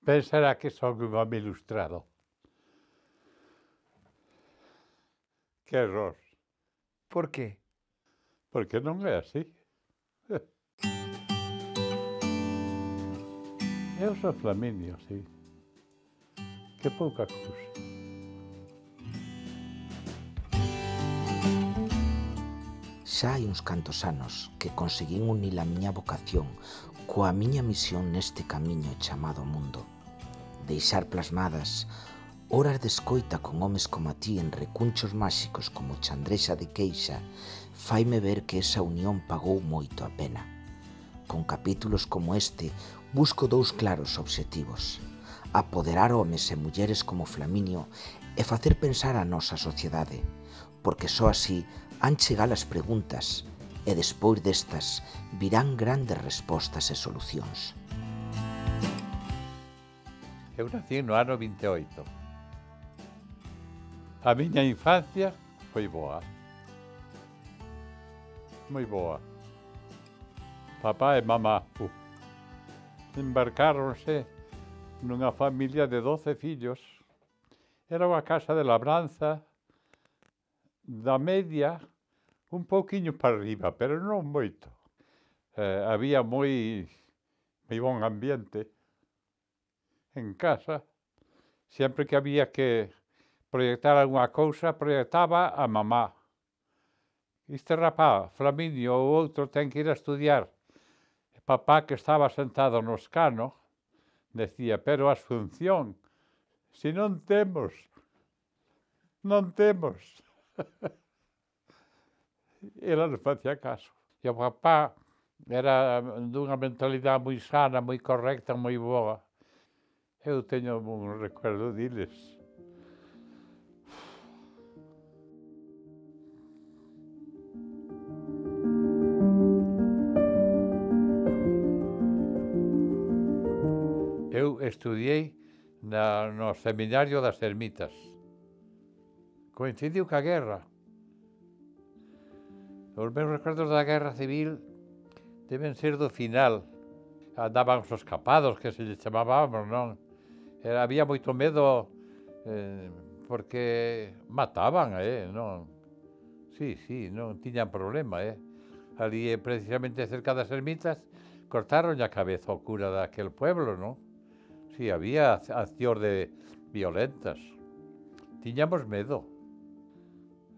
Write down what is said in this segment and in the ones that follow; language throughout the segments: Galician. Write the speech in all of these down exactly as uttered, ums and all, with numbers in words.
Pensará que son un home ilustrado. Que error. Por qué? Porque non é así. Eu sou Flaminio, sí. Que pouca cousa. Xa hai uns cantos anos que conseguín unir a miña vocación coa miña misión neste camiño chamado mundo. Deixar plasmadas horas de escoita con homes como a ti en recunchos máxicos como Chandrexa de Queixa faime ver que esa unión pagou moito a pena. Con capítulos como este busco dous claros obxectivos: apoderar homes e mulleres como Flaminio e facer pensar a nosa sociedade, porque só así han chegar as preguntas e despois destas virán grandes respostas e solucións. Eu nací no ano vinte e oito. A miña infancia foi boa. Moi boa. Papá e mamá uh, embarcáronse nunha familia de doce fillos. Era unha casa de labranza da media, un pouquiño para arriba, pero non moito. Eh, había moi, moi bon ambiente en casa. Sempre que había que proyectar algunha cousa, proyectaba a mamá. Este rapaz, Flaminio, ou outro, ten que ir a estudiar. E papá, que estaba sentado no escano, decía, pero Asunción, se non temos, non temos. Ela non facía caso. E o papá era dunha mentalidade moi sana, moi correcta, moi boa. Eu teño un recuerdo diles. Eu estudiei na, no seminario das Ermitas. Coincidiu ca guerra. Os meus recuerdos da Guerra Civil deben ser do final. Andaban os escapados, que se lle chamábamos, non? Era, había moito medo eh, porque mataban, eh, non? Sí, sí, non tiñan problema, eh? Ali, precisamente cerca das ermitas, cortaron a cabeza ao cura daquel pueblo, non? Sí, había accións de violentas. Tiñamos medo.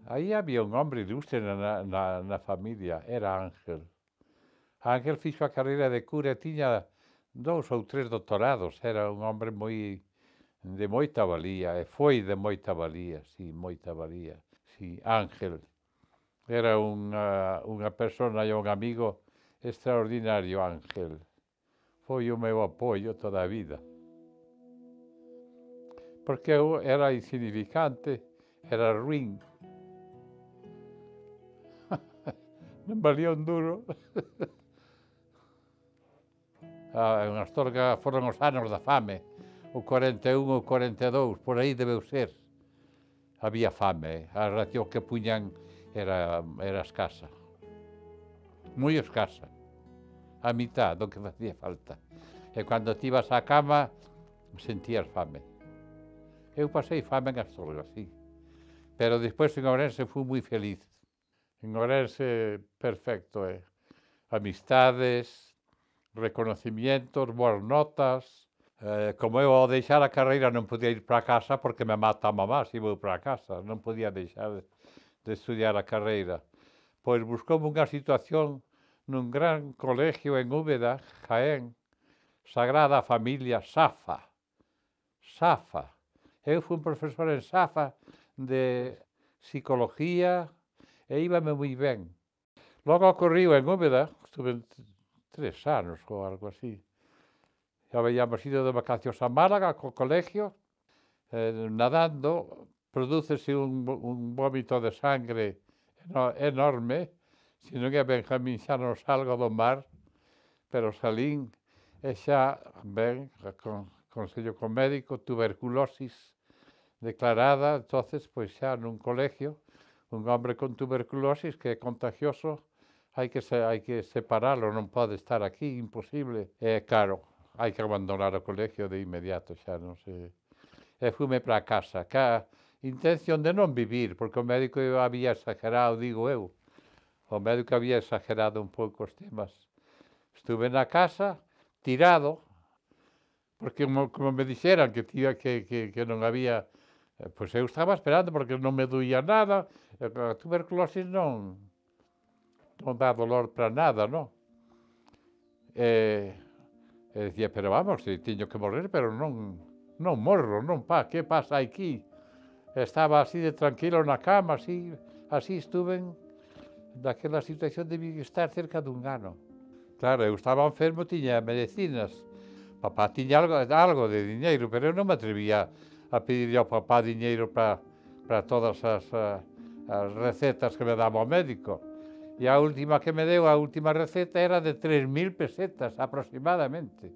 Aí había un hombre ilustre na, na, na familia, era Ángel. Ángel fixo a carreira de cura e tiña dous ou tres doctorados. Era un hombre moi de moita valía, e foi de moita valía, sí, moita valía. Sí, Ángel. Era unha, unha persona e un amigo extraordinario, Ángel. Foi o meu apoio toda a vida. Porque eu era insignificante, era ruín. Non valía un duro. Ah, en Astorga foron os anos da fame, o cuarenta e un ou cuarenta e dous, por aí debeu ser. Había fame, a ración que puñan era, era escasa. Moi escasa. A mitad do que facía falta. E cando ti ibas á cama, sentías fame. Eu pasei fame en Astorga, sí. Pero despois en Ourense fui moi feliz. En Ourense, perfecto, eh? Amistades, reconocimientos, boas notas. Eh, como eu ao deixar a carreira non podía ir para casa porque me mata a mamá se vou para casa. Non podía deixar de estudiar a carreira. Pois buscoume unha situación nun gran colegio en Úbeda, Jaén, Sagrada Familia, Safa. Safa. Eu fui un profesor en Safa de psicología e íbame moi ben. Logo ocorriu en Úbeda, estuve tres anos ou algo así. Habíamos ido de vacacións a Málaga co colegio, eh, nadando, prodúcese un, un vómito de sangre enorme, se non é Benjamín xa non salgo do mar, pero salín e xa, ben, con consello con médico, tuberculosis declarada, entonces, pois xa nun colegio, un hombre con tuberculosis que é contagioso, hai que, se, hai que separalo, non pode estar aquí, imposible. E, claro, hai que abandonar o colegio de inmediato, xa non sei. E fume para casa, ca intención de non vivir, porque o médico había exagerado, digo eu, o médico había exagerado un pouco os temas. Estuve na casa, tirado, porque como, como me dixeran que, tía, que, que, que non había, eh, pois eu estaba esperando porque non me doía nada, a tuberculosis non, non dá dolor para nada, non? E, e dicía, pero vamos, se tiño que morrer, pero non, non morro, non, pa, que pasa aquí? Estaba así de tranquilo na cama, así, así estuve naquela situación de estar cerca dun ano. Claro, eu estaba enfermo, tiña medicinas, papá tiña algo, algo de diñeiro, pero eu non me atrevía a pedirle ao papá diñeiro para, para todas as, as recetas que me daba o médico. E a última que me deu, a última receta, era de tres mil pesetas aproximadamente.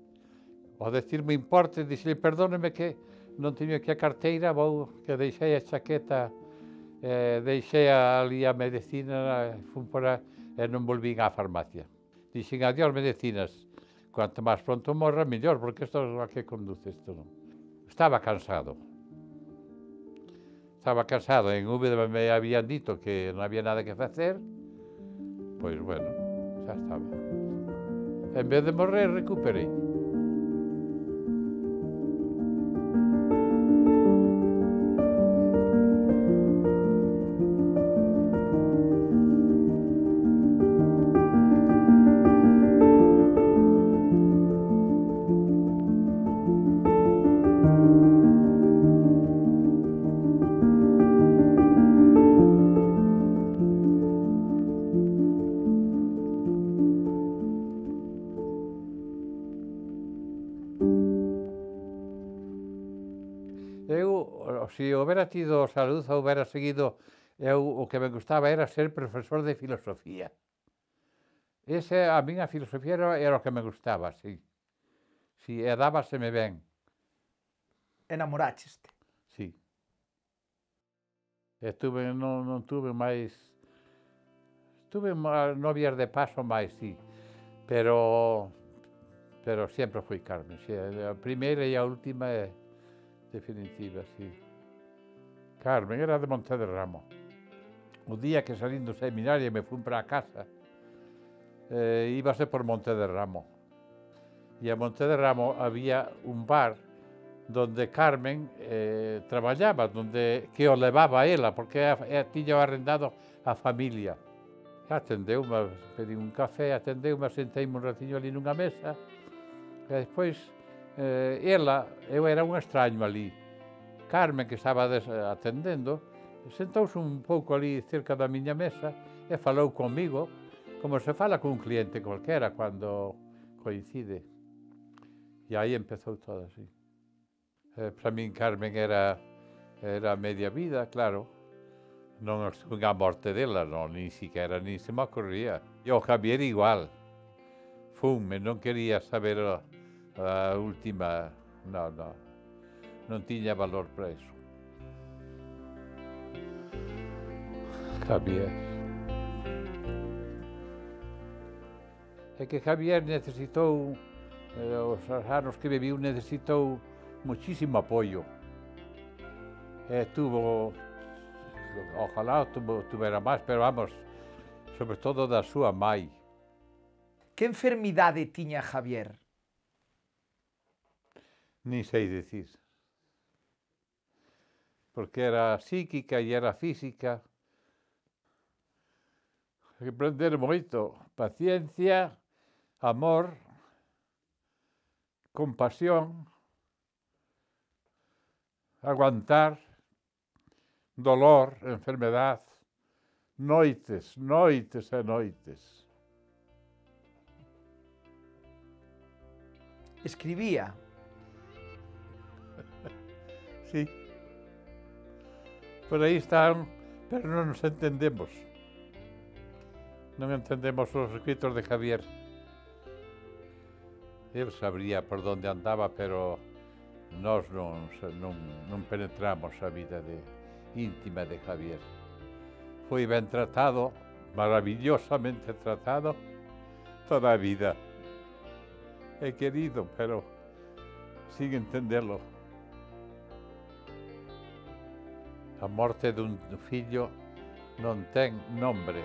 Ao decirme importe, dixele, perdóneme que non teño aquí a carteira, vou, que deixei a chaqueta, eh, deixei ali a medicina, fun por a, e non volvín á farmacia. Dixen, adiós medicinas, cuanto máis pronto morra, mellor, porque isto é a que conduce isto. Non? Estaba cansado. Estaba cansado, en Úbeda me habían dito que non había nada que facer, pois, bueno, xa estaba. En vez de morrer, recuperei. Eu, se houbera tido salud, houbera seguido, eu o que me gustaba era ser profesor de filosofía. Ese, a min a filosofía era, era o que me gustaba, sí. Sí, e dábaseme ben. Enamorácheste? Sí. E tuve, non, non tuve máis... Tuve novias de paso máis, sí. Pero... Pero sempre foi Carmen, sí. A primeira e a última é definitiva, sí. Carmen era de Montederramo. O día que salín do seminario e me fun para a casa, eh, íbase por Montederramo. E a Montederramo había un bar donde Carmen eh, traballaba, donde, que o levaba a ela, porque a, a, tiña arrendado a familia. Atendeu-me, pedí un café, atendeu-me, senteime un ratiño ali nunha mesa, e despois, eh, ela, eu era un extraño ali. Carmen, que estaba des, atendendo, sentouse un pouco ali cerca da miña mesa e falou comigo, como se fala con un cliente cualquera cando coincide. E aí empezou todo así. Eh, para min Carmen era, era media vida, claro. Non estuve a morte dela, non, ni siquiera, ni se me ocurría. E o Javier igual. Fume, non quería saber a, a última, non, non. Non tiña valor para iso. Javier. É que Javier necesitou, eh, os anos que viviu, necesitou muchísimo apoio. E tuvo, ojalá tuvo, tuvera máis, pero vamos, sobre todo da súa mai. Que enfermidade tiña Javier? Ni sei dicir. Porque era psíquica e era física. Hai que aprender moito. Paciencia, amor, compasión, aguantar, dolor, enfermedad, noites, noites e noites. Escribía? Sí. Por aí están, pero non nos entendemos. Non entendemos os escritos de Javier. El sabría por donde andaba, pero nós non, non, non penetramos a vida de, íntima de Javier. Foi ben tratado, maravillosamente tratado, toda a vida. É querido, pero sin entendelo. A morte dun fillo non ten nombre.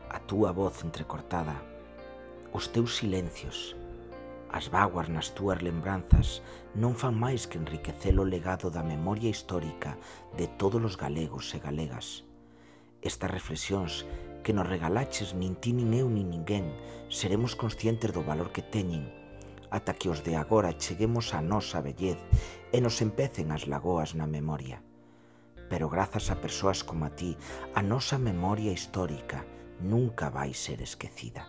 A túa voz entrecortada, os teus silencios, as vaguas nas túas lembranzas non fan máis que enriquecer o legado da memoria histórica de todos os galegos e galegas. Estas reflexións que nos regalaches nin ti nin eu nin ninguén seremos conscientes do valor que teñen ata que os de agora cheguemos á nosa vellez e nos empecen as lagoas na memoria. Pero grazas a persoas como a ti, a nosa memoria histórica nunca vai ser esquecida.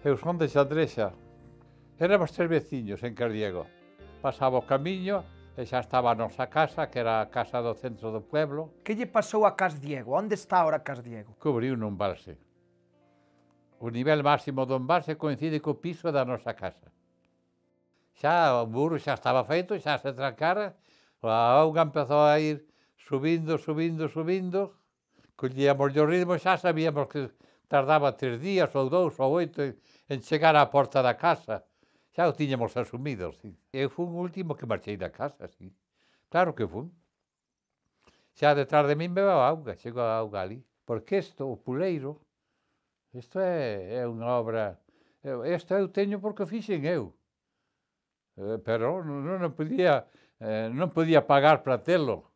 Eu son de Xandrexa. Éramos tres veciños en Cardiego. Pasaba o camiño e xa estaba a nosa casa, que era a casa do centro do pueblo. Que lle pasou a Cas Diego? Onde está ahora Cas Diego? Cubriu nun embalse. O nivel máximo do embalse coincide co piso da nosa casa. Xa o muro xa estaba feito, xa se trancara, a auga empezou a ir subindo, subindo, subindo, collíamos o ritmo, xa sabíamos que tardaba tres días ou dous ou oito en chegar á porta da casa. Xa o tiñamos asumido, sí. Eu fui o último que marchei da casa, sí. Claro que fui. Xa detrás de min bebeu a auga, chegou a auga ali. Porque isto, o puleiro, isto é, é unha obra... Isto eu teño porque o fixen eu. Eh, pero non, non podía, eh, non podía pagar para telo.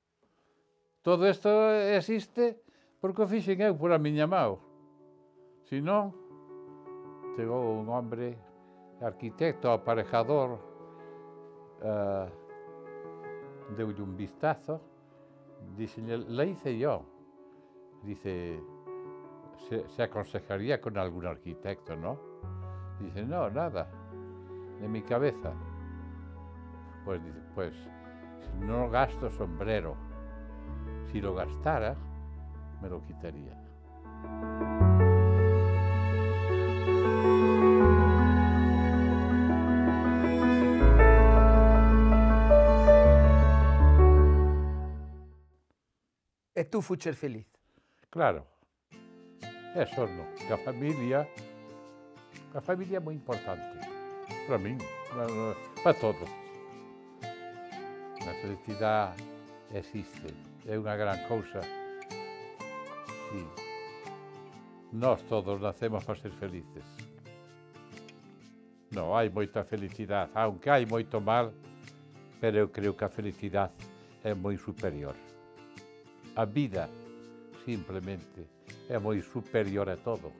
Todo isto existe porque o fixen eu por a miña mão. Se non, chegou un hombre, arquitecto, aparejador, uh, deulle un vistazo, dixenlle, la hice yo. Dice, se, se aconsejaría con algún arquitecto, ¿no? Dice, no, nada, de mi cabeza. Pues dice, pues, no gasto sombrero. Si lo gastara, me lo quitaría. E tú fuches feliz? Claro. Eso no, que a familia, a familia é moi importante. Para min, para, para todos. A felicidade existe, é unha gran cousa. Sí. Nós todos nacemos para ser felices. Non, hai moita felicidade, aunque hai moito mal, pero eu creo que a felicidade é moi superior. A vida, simplemente, é moi superior a todo.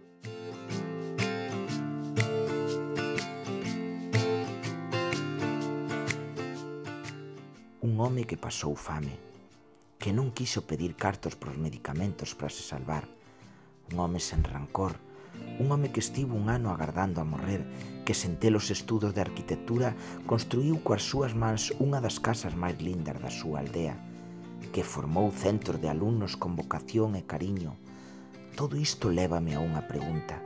Un home que pasou fame, que non quiso pedir cartos pros medicamentos para se salvar, un home sen rancor, un home que estivo un ano agardando a morrer, que sen ter os estudos de arquitectura construíu coas súas mans unha das casas máis lindas da súa aldea, que formou centros de alumnos con vocación e cariño. Todo isto lévame a unha pregunta.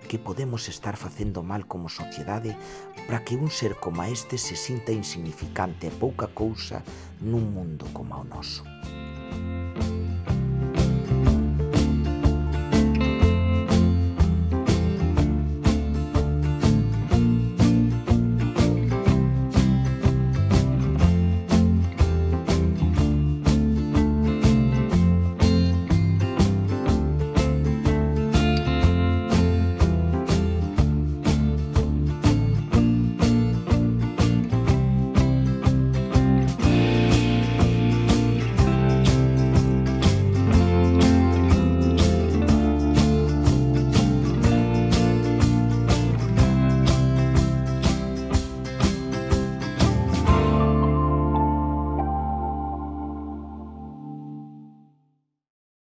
Que podemos estar facendo mal como sociedade para que un ser como este se sinta insignificante e pouca cousa nun mundo como o noso?